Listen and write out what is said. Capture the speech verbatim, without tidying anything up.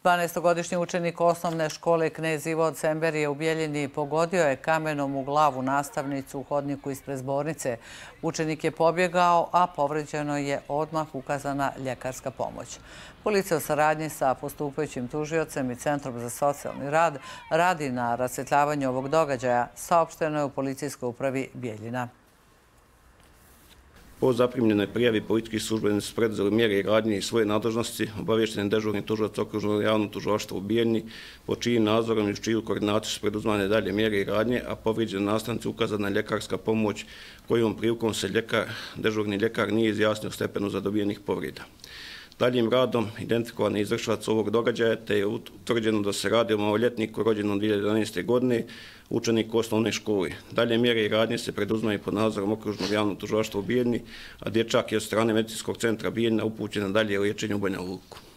dvanaestogodišnji učenik osnovne škole Knez Ivo od Semberije u Bijeljini pogodio je kamenom u glavu nastavnicu u hodniku ispred zbornice. Učenik je pobjegao, a povređeno je odmah ukazana ljekarska pomoć. Policija u saradnji sa postupajućim tužiocem i Centrom za socijalni rad radi na rasvjetljavanju ovog događaja, saopšteno je u policijskoj upravi Bijeljina. Po zaprimljenoj prijavi policijski službenici su preduzeli mjere i radnje iz svoje nadležnosti, obavješteni dežurni tužilac okružnog javnog tužilaštva u Bijeljini, po čijim nadzorom i uz čiju koordinaciju su preduzimane dalje mjere i radnje, a povrijeđenoj nastavnici ukazana ljekarska pomoć kojom prilikom se ljekar, dežurni ljekar nije izjasnio o stepenu zadobijenih povreda. Daljim radom identifikovan je izvršilac ovog događaja, te je utvrđeno da se radi o maloljetniku rođenom dvije hiljade jedanaeste. godine, učenik osnovne škole. Dalje mjere i radnje se preduzimaju pod nadzorom okružnog javnog tužilaštva u Bijeljini, a dječak je od strane medicinskog centra Bijeljina upućen na dalje liječenje u Banja Luku.